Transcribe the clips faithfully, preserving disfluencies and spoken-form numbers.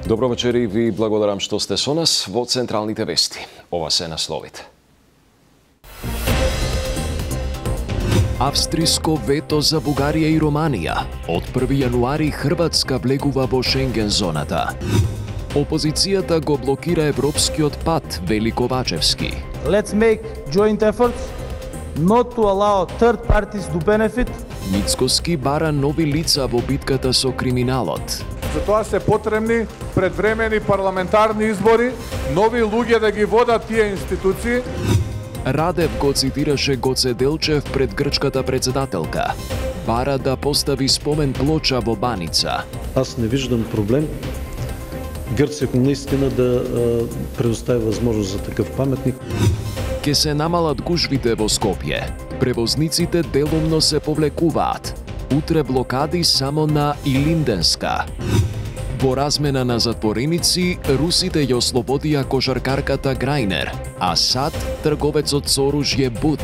Добро вечер и ви благодарам што сте со нас во централните вести. Ова се насловите. Австриско вето за Бугарија и Романија. Од први јануари Хрватска влегува во Шенген зоната. Опозицијата го блокира европскиот пат, вели Ковачевски. Let's make joint efforts not to allow third parties to benefit. Мицкоски бара нови лица во битката со криминалот. Затоа се потребни предвремени парламентарни избори, нови луѓе да ги водат тие институции. Радев го цитираше Гоце Делчев пред грчката председателка. Бара да постави спомен плоча во Баница. Аз не виждам проблем Грција наистина да предостави возможност за такъв паметник. Ке се намалат гужвите во Скопје. Превозниците делумно се повлекуваат. Утре блокади само на Илинденска. Во размена на затвореници, русите ја ослободија кошаркарката Грајнер, а САД трговецот со оружје Бут.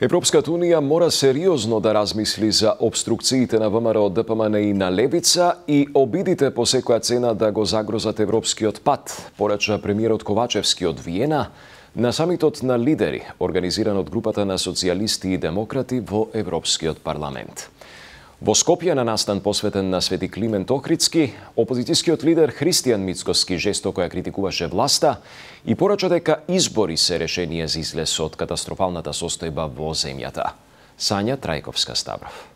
Европската Унија мора сериозно да размисли за обструкциите на ВМРО, ДПМН и на Левица и обидите по секоја цена да го загрозат европскиот пат, порача премиерот Ковачевски од Виена на самитот на лидери, организиран од групата на социјалисти и демократи во Европскиот парламент. Во Скопје на настан посветен на Свети Климент Охридски, опозицијскиот лидер Христијан Мицкоски жестоко ја критикуваше власта и порача дека избори се решение за излез од катастрофалната состојба во земјата. Сања Трајковска-Ставров.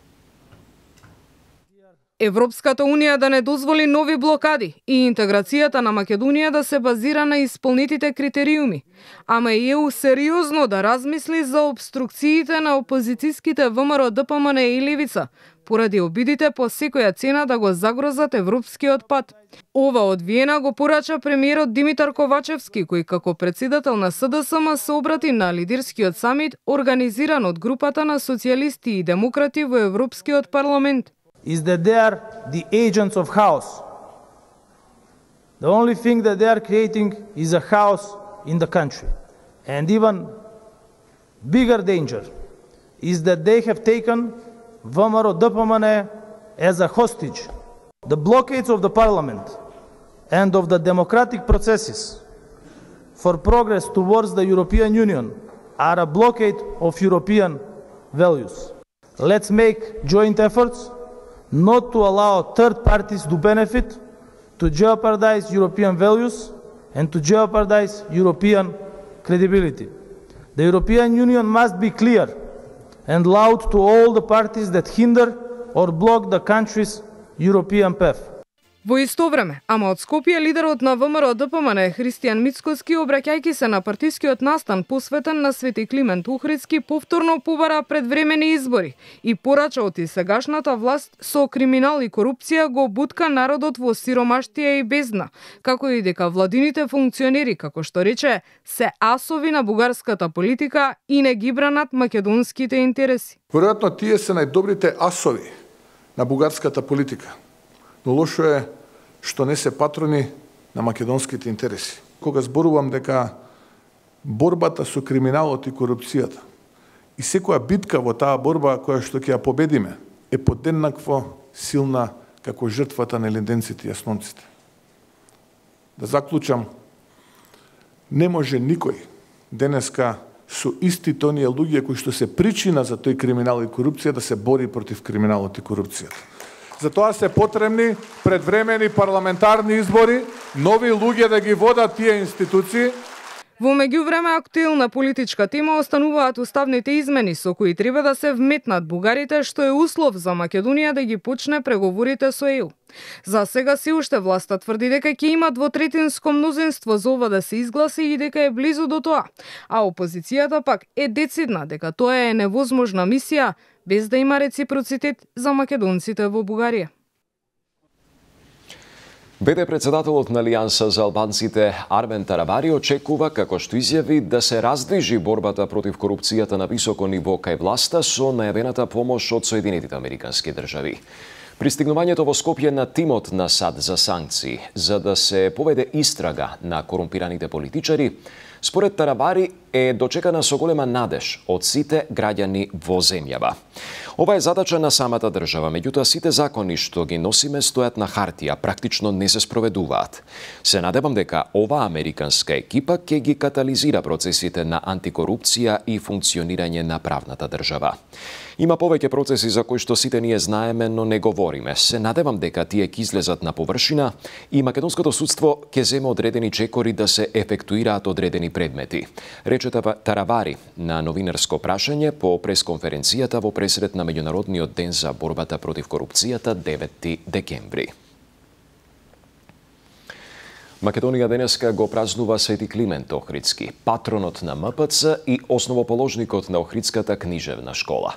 Европската Унија да не дозволи нови блокади и интеграцијата на Македонија да се базира на исполнетите критериуми, ама и ЕУ сериозно да размисли за обструкциите на опозицијските ВМРО, ДПМН и Левица, поради обидите по секоја цена да го загрозат европскиот пат. Ова од Виена го порача премиерот Димитар Ковачевски, кој како председател на СДСМ се обрати на лидерскиот самит организиран од групата на социјалисти и демократи во Европскиот парламент. Is that they are the agents of chaos. The only thing that they are creating is a chaos in the country. And even bigger danger is that they have taken ВМРО, ДПМН as a hostage. The blockades of the parliament and of the democratic processes for progress towards the European Union are a blockade of European values. Let's make joint efforts not to allow third parties to benefit, to jeopardize European values and to jeopardize European credibility. The European Union must be clear and loud to all the parties that hinder or block the country's European path. Во исто време, ама од Скопје, лидерот на ВМРО ДПМН Христијан Мицкоски, обраќајќи се на партискиот настан посветен на Свети Климент Охридски, повторно побара предвремени избори и порача од и сегашната власт со криминал и корупција го бутка народот во сиромаштија и бездна, како и дека владините функционери, како што рече, се асови на бугарската политика и не ги бранат македонските интереси. Веројатно тие се најдобрите асови на бугарската политика. Но лошо е што не се патрони на македонските интереси. Кога зборувам дека борбата со криминалот и корупцијата и секоја битка во таа борба која што ќе ја победиме е подеднакво силна како жртвата на линденците и јаснонците. Да заклучам, не може никој денеска со истите оние луѓе кои што се причина за тој криминал и корупција да се бори против криминалот и корупцијата. Затоа се потребни предвремени парламентарни избори, нови луѓе да ги водат тие институции. Во меѓувреме актуелна политичка тема остануваат уставните измени со кои треба да се вметнат бугарите, што е услов за Македонија да ги почне преговорите со ЕУ. За сега се уште власта тврди дека ќе има двотретинско мнозинство за ова да се изгласи и дека е близу до тоа, а опозицијата пак е децидна дека тоа е невозможна мисија без да има реципроцитет за македонците во Бугарија. Беде председателот на Алијанса за албанците Армен Тарабари очекува, како што изјави, да се раздвижи борбата против корупцијата на високо ниво кај власта со најавената помош од Соединетите Американски држави. Пристигнувањето во Скопје на тимот на САД за санкции за да се поведе истрага на корумпираните политичари, според Таравари е дочекана со голема надеж од сите граѓани во земјава. Ова е задача на самата држава, меѓутоа сите закони што ги носиме стојат на хартија, практично не се спроведуваат. Се надевам дека ова американска екипа ќе ги катализира процесите на антикорупција и функционирање на правната држава. Има повеќе процеси за кои што сите ние знаеме, но не говориме. Се надевам дека тие ќе излезат на површина и македонското судство ќе земе одредени чекори да се ефектуираат одредени предмети, рече Таравари на новинарско прашање по пресконференцијата во пресред на Меѓународниот ден за борбата против корупцијата деветти декември. Македонија денеска го празнува Свети Климент Охридски, патронот на М П Ц и основоположникот на Охридската книжевна школа.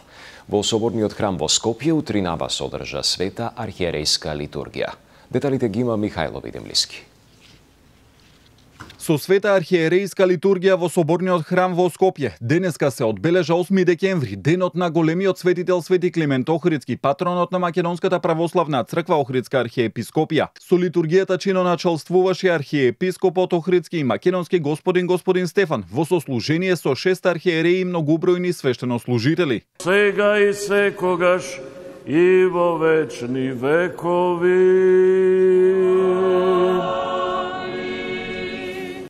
Во соборниот храм во Скопје утринава се одржа света архиерејска литургија. Деталите ги има Михајло Видемлиски. Со света архиерејска литургија во соборниот храм во Скопје денеска се одбележа осми декември, денот на големиот светител Свети Климент Охридски, патронот на Македонската православна црква Охридска архиепископија. Со литургијата чиноначалствуваше архиепископот Охридски и македонски господин господин Стефан во сослужение со шест архиереи и многобројни свештенослужители. Сега и секогаш и во вечни векови.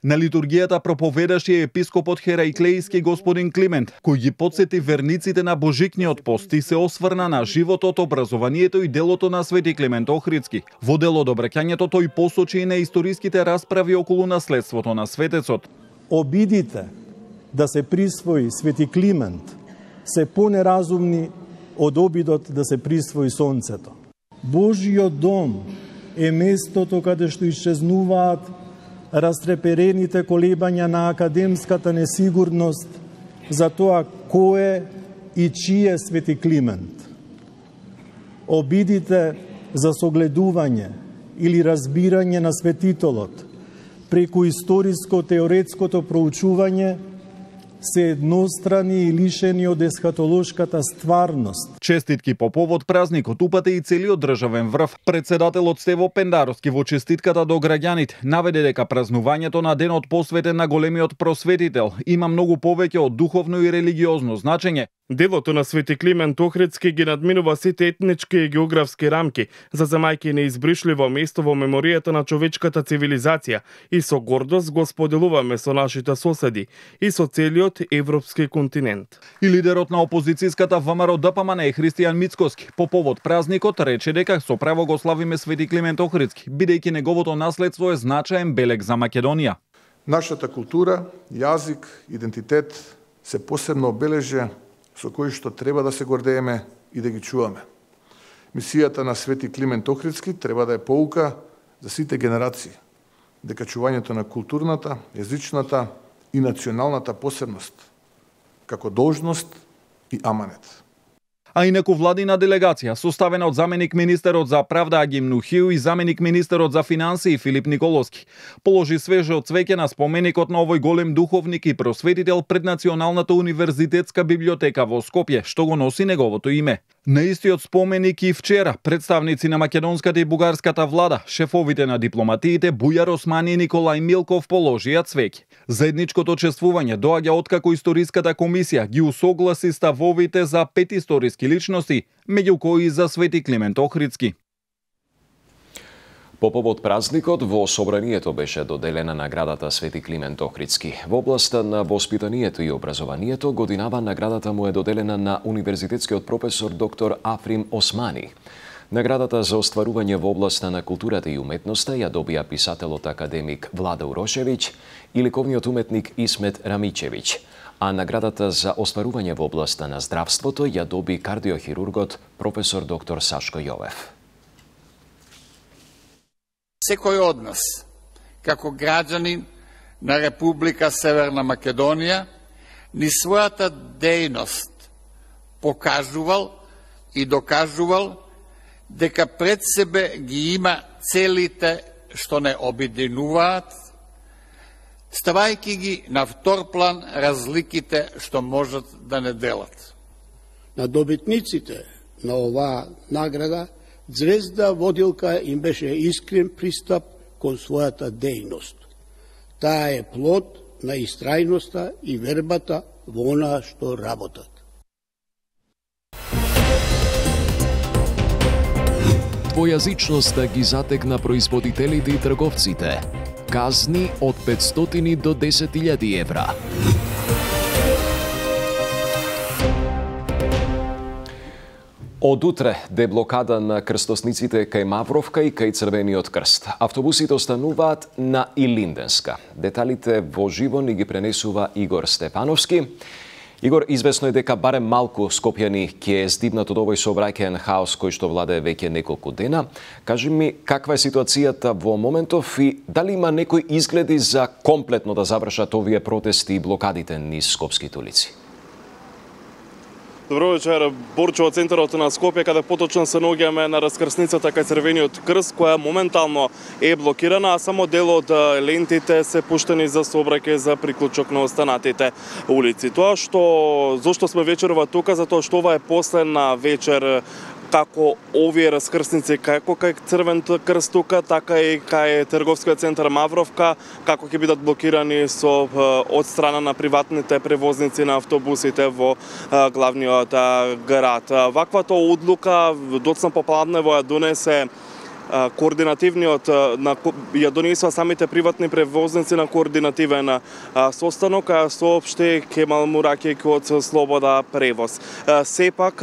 На литургијата проповедаше епископот Херајклејски господин Климент, кој ги потсети верниците на Божикниот пост и се осврна на животот, образованието и делото на Свети Климент Охридски. Во дел од обраќањето тој посочи и на историските расправи околу наследството на светецот. Обидите да се присвои Свети Климент се понеразумни од обидот да се присвои сонцето. Божиот дом е местото каде што исчезнуваат растреперените колебања на академската несигурност за тоа кој и чие Свети Климент. Обидите за согледување или разбирање на светителот преку историско-теоретското проучување се еднострани и лишени од есхатолошката стварност. Честитки по повод празникот упате и целиот државен врв. Председателот Стево Пендаровски во честитката до граѓаните наведе дека празнувањето на денот посветен на големиот просветител има многу повеќе од духовно и религиозно значење. Делото на Свети Климент Охридски ги надминува сите етнички и географски рамки, заземајќи неизбришливо место во меморијата на човечката цивилизација и со гордост го споделуваме со нашите соседи и со целиот европски континент. И лидерот на опозицијската ВМРО Д П М Н Христијан Мицкоски по повод празникот рече дека со право го славиме Свети Климент Охридски, бидејќи неговото наследство е значаен белег за Македонија. Нашата култура, јазик, идентитет се посебно обележи со кои што треба да се гордееме и да ги чуваме. Мисијата на Свети Климент Охридски треба да е поука за сите генерации, дека чувањето на културната, езичната и националната посебност, како должност и аманет. А инаку владина делегација, составена од заменик министерот за правда Агим Нухиу и заменик министерот за финансии Филип Николовски, положи свежо цвеќе на споменикот на овој голем духовник и просветител пред Националната универзитетска библиотека во Скопје, што го носи неговото име. На истиот споменик и вчера представници на македонската и бугарската влада, шефовите на дипломатиите Бујар Османи и Николај Милков положија цвеќе. Заедничкото чествување доаѓа откако историската комисија ги усогласи ставовите за пет историски личности, меѓу кои за Свети Климент Охридски. По повод празникот, во собранието беше доделена наградата Свети Климент Охридски. Во областа на воспитанието и образованието, годинава наградата му е доделена на универзитетскиот професор доктор Африм Османи. Наградата за остварување во областа на културата и уметноста ја добија писателот академик Владо Урошевиќ и ликовниот уметник Исмет Рамичевиќ, а наградата за остварување во областа на здравството ја доби кардиохирургот професор доктор Сашко Јовев. Секој од нас, како граѓанин на Република Северна Македонија, ни својата дејност покажувал и докажувал дека пред себе ги има целите што не обединуваат, ставајќи ги на втор план разликите што можат да не делат. На добитниците на оваа награда Звезда водилка им беше искрен пристап кон својата дејност. Таа е плод на истрајноста и вербата во она што работат. Двојазичноста ги затегна производителите и трговците. Казни од петстотини до десет илјади евра. Од утре деблокада на крстосниците кај Мавровка и кај Црвениот крст. Автобусите остануваат на Илинденска. Деталите во живо ни ги пренесува Игор Степановски. Игор, известно е дека барем малку скопјани ќе е здивнат од овој сообраќаен хаос кој што владее веќе неколку дена. Кажи ми каква е ситуацијата во моментов и дали има некои изгледи за комплетно да завршат овие протести и блокадите низ скопските улици? Добро вечер, Борчо, од центарот на Скопје, каде поточно се наоѓаме на раскрсницата кај Црвениот крст, која моментално е блокирана, а само дел од лентите се пуштени за сообраќај за приклучок на останатите улици. Тоа што зошто сме вечерова тука, затоа што ова е последна вечер како овие раскрсници, како кај Црвен крст тука, така и кај трговскиот центар Мавровка, како ќе бидат блокирани со од страна на приватните превозници на автобусите во главниот град. Ваквата одлука доцна попладнево ја донесе координативниот на ја донесува самите приватни превозници на координативен состанок, а соопшти Кемал Муракејки од Слобода превоз. Сепак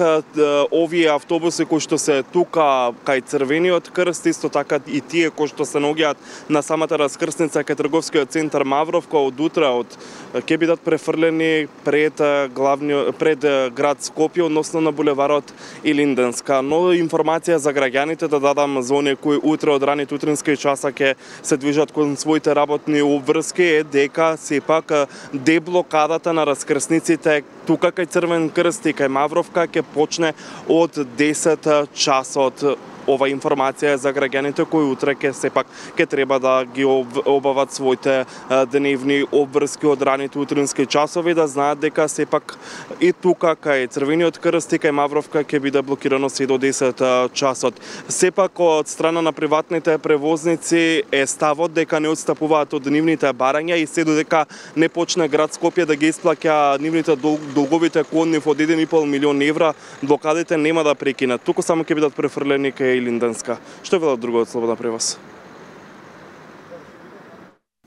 овие автобуси кои што се тука кај Црвениот крст, исто така и тие кои што се наоѓаат на самата раскрсница кај трговскиот центар Мавровка, од утре од ќе бидат префрлени пред главниот пред град Скопје, односно на булеварот Илинденска. Но информација за граѓаните да дадам за оние кои утре од раните утрински часа ќе се движат кон своите работни обврски е дека сепак деблокадата на раскрсниците тука кај Црвен крст и кај Мавровка ќе почне од десет часот. Ова информација е за граѓаните кои утре ќе сепак ќе треба да ги обават своите дневни обврски од раните утрински часови, да знаат дека сепак и тука кај Црвениот крст и кај Мавровка ќе биде блокирано се до десет часот. Сепак од страна на приватните превозници е ставот дека не отстапуваат од нивните барања и се додека не почне град Скопје да ги исплаќа нивните долговите кон нив од еден и пол милион евра, блокадите нема да прекинат. Туку само ќе бидат префрлени кај Илинденска. Што велат друго од Слобода превоз?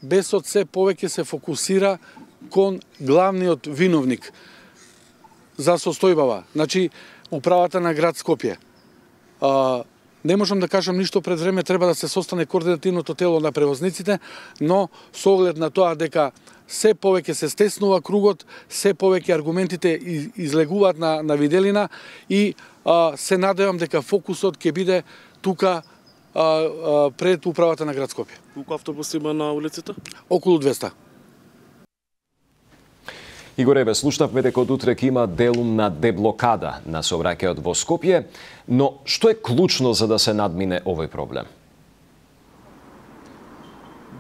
Бесот се повеќе се фокусира кон главниот виновник за состојбава, значи управата на град Скопје. А, не можам да кажам ништо пред време, треба да се состане координативното тело на превозниците, но со оглед на тоа дека се повеќе се стеснува кругот, се повеќе аргументите излегуваат на, на виделина и а, се надевам дека фокусот ќе биде тука а, а, пред управата на град Скопје. Колку автобуси има на улицата? Околу двеста. Игоре, ве слушнавме дека од утре ќе има делум на деблокада на сообраќајот во Скопје, но што е клучно за да се надмине овој проблем?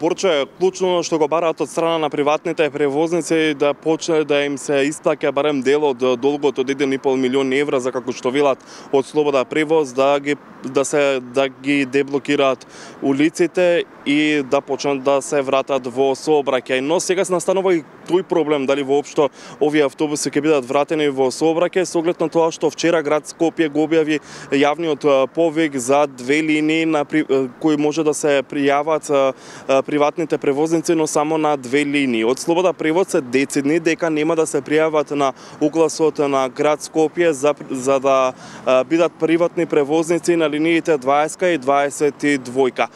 Борчо, е клучно што го бараат од страна на приватните превозници да почне да им се исплаќа барем дел од долгот од еден и пол милион евра за како што велат од Слобода превоз да ги да се да ги деблокираат улиците и да почнат да се вратат во сообраќај. Но сега се настанува и тој проблем дали воопшто овие автобуси ќе бидат вратени во сообраќај со оглед на тоа што вчера град Скопје го објави јавниот повик за две линии на кои може да се пријават приватните превозници, но само на две линии. Од Слобода превоз се децидни дека нема да се пријават на угласот на град Скопје за, за да а, бидат приватни превозници на линиите дваесет и дваесет и двајка.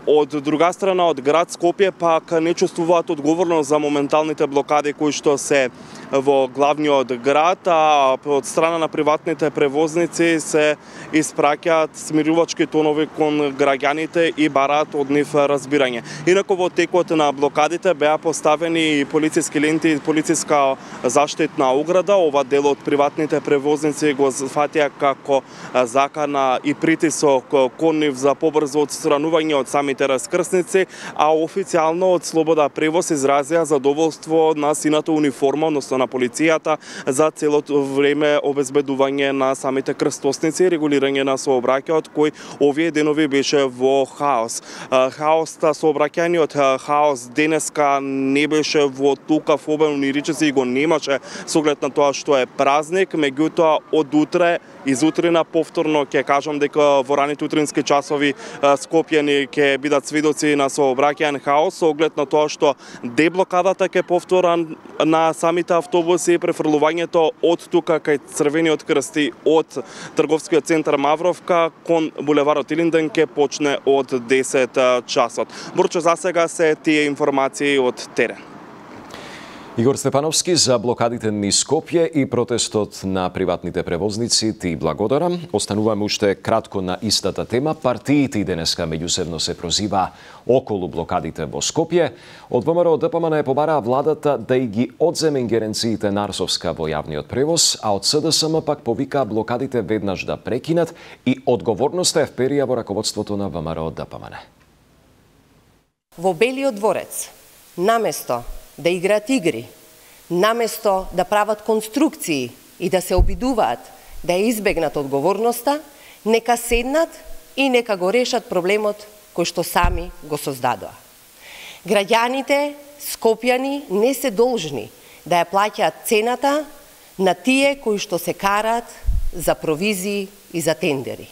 Од друга страна, од град Скопје пак не чувствуваат одговорност за моменталните блокади кои што се во главниот град, а од страна на приватните превозници се испраќаат смирувачки тонови кон граѓаните и бараат од нив разбирање. Инаку во текот на блокадите беа поставени полициски ленти и полициска заштитна ограда. Ова дел од приватните превозници го фатија како закана и притисок кон нив за побрзо отстранување од самите раскрсници, а официјално од Слобода превоз изразија задоволство покровителство на сината униформа, односно на полицијата, за целото време обезбедување на самите крстосници и регулирање на сообраќајот, кој овие денови беше во хаос. Хаоста, сообраќајниот хаос денеска не беше во толков обем, ни речиси и го немаше со оглед на тоа што е празник, меѓутоа од утре изутрина повторно ќе кажам дека во раните утрински часови скопјани ќе бидат сведоци на сообраќајен хаос со оглед на тоа што деблокадата ќе повтора на самите автобуси и префрлувањето од тука кај Црвениот крст од трговскиот центар Мавровка кон булеварот Илинден ќе почне од десет часот. Борчо, за сега се тие информации од терен. Игор Степановски, за блокадите низ Скопје и протестот на приватните превозници ти благодарам. Остануваме уште кратко на истата тема. Партиите денеска меѓусебно се прозива околу блокадите во Скопје. Од ВМРО ДПМН побараа владата да и ги одземе ингеренциите на Арсовска во јавниот превоз, а од СДСМ пак повикаа блокадите веднаш да прекинат и одговорноста е вперија во раководството на ВМРО ДПМН. Во Белиот дворец, наместо да играат игри, наместо да прават конструкции и да се обидуваат да ја избегнат одговорноста, нека седнат и нека го решат проблемот кој што сами го создадоа. Граѓаните скопјани не се должни да ја плаќаат цената на тие кои што се караат за провизии и за тендери.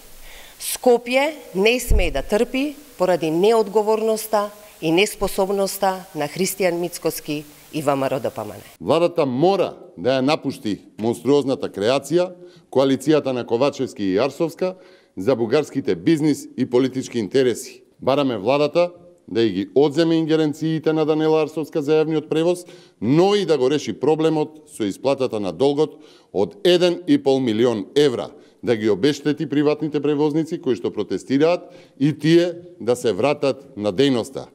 Скопје не смее да трпи поради неодговорноста и неспособноста на Христијан Мицкоски и ВМРО ДПМН. Владата мора да ја напушти монструозната креација, коалицијата на Ковачевски и Арсовска за бугарските бизнис и политички интереси. Бараме владата да и ги одземе ингеренциите на Данела Арсовска за јавниот превоз, но и да го реши проблемот со исплатата на долгот од еден и пол милион евра, да ги обештети приватните превозници кои што протестираат и тие да се вратат на дејноста.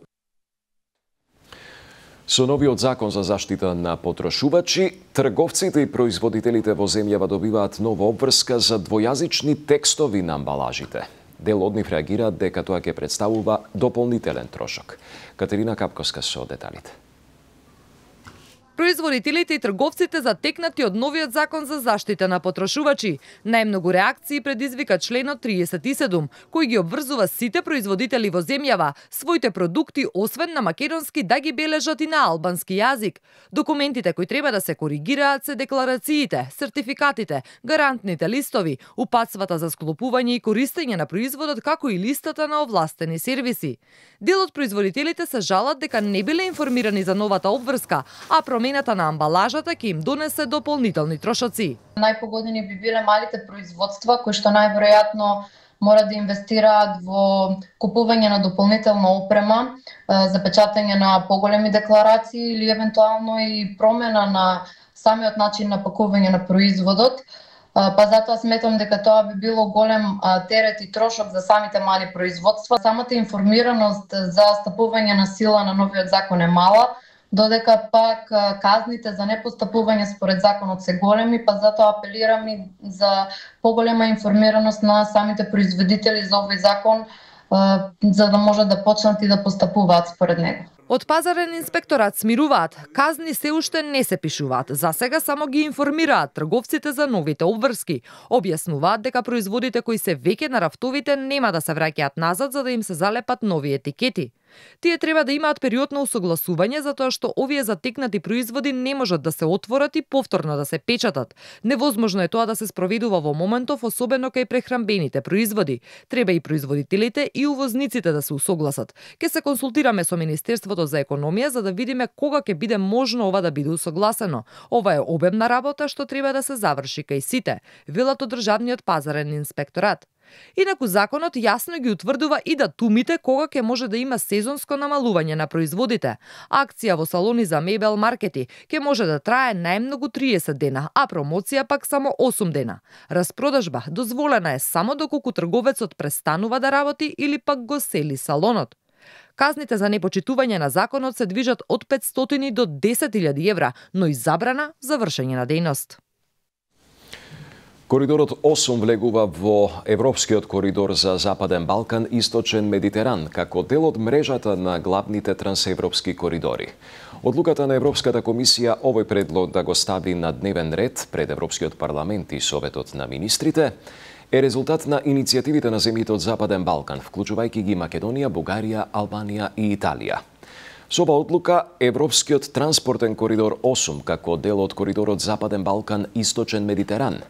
Со новиот закон за заштита на потрошувачи, трговците и производителите во земјава добиваат нова обврска за двојазични текстови на амбалажите. Дел од нив реагираат дека тоа ќе представува дополнителен трошок. Катерина Капковска со деталите. Производителите и трговците затекнати од новиот закон за заштита на потрошувачи. Најмногу реакции предизвика членот триесет и седум, кој ги обврзува сите производители во земјава своите продукти освен на македонски да ги бележат и на албански јазик. Документите кои треба да се коригираат се декларациите, сертификатите, гарантните листови, упатствата за склопување и користење на производот, како и листата на овластени сервиси. Дел од производителите се жалат дека не биле информирани за новата обврска, а промената на амбалажата ќе им донесе дополнителни трошоци. Најпогодени би биле малите производства кои што најверојатно мора да инвестираат во купување на дополнителна опрема, за печатање на поголеми декларации или евентуално и промена на самиот начин на пакување на производот. Па затоа сметам дека тоа би било голем терет и трошок за самите мали производства. Самата информираност за стапување на сила на новиот закон е мала, додека пак казните за непостапување според законот се големи, па затоа апелирам и за поголема информираност на самите производители за овој закон, за да можат да почнат и да постапуваат според него. Од пазарен инспекторат смируваат, казни се уште не се пишуваат. За сега само ги информираат трговците за новите обврски. Објаснуваат дека производите кои се веќе на рафтовите нема да се враќаат назад за да им се залепат нови етикети. Тие треба да имаат период на усогласување затоа што овие затекнати производи не можат да се отворат и повторно да се печатат. Невозможно е тоа да се спроведува во моментов, особено кај прехрамбените производи. Треба и производителите и увозниците да се усогласат. Ке се консултираме со Министерството за економија за да видиме кога ќе биде можно ова да биде усогласено. Ова е обемна работа што треба да се заврши кај сите, велат од Државниот пазарен инспекторат. Инаку законот јасно ги утврдува и датумите кога ќе може да има сезонско намалување на производите. Акција во салони за мебел маркети ќе може да трае најмногу триесет дена, а промоција пак само осум дена. Распродажба дозволена е само доколку трговецот престанува да работи или пак го сели салонот. Казните за непочитување на законот се движат од петстотини до десет илјади евра, но и забрана за вршење на дејност. Коридорот осум влегува во Европскиот коридор за Западен Балкан, Источен Медитеран, како дел од мрежата на главните трансевропски коридори. Одлуката на Европската комисија овој предлог да го стави на дневен ред пред Европскиот парламент и Советот на министрите е резултат на иницијативите на земјите од Западен Балкан, вклучувајќи ги Македонија, Бугарија, Албанија и Италија. Со оваа одлука, Европскиот транспортен коридор осум, како дел од коридорот Западен Балкан – Источен Медитеран,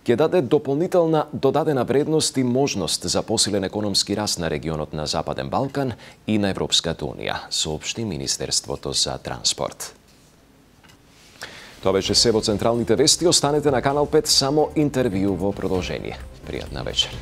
ќе даде дополнителна додадена вредност и можност за посилен економски раст на регионот на Западен Балкан и на Европската Унија, соопшти Министерството за транспорт. Тоа беше се во централните вести. Останете на Канал пет, само интервју во продолжение. Пријатна вечер.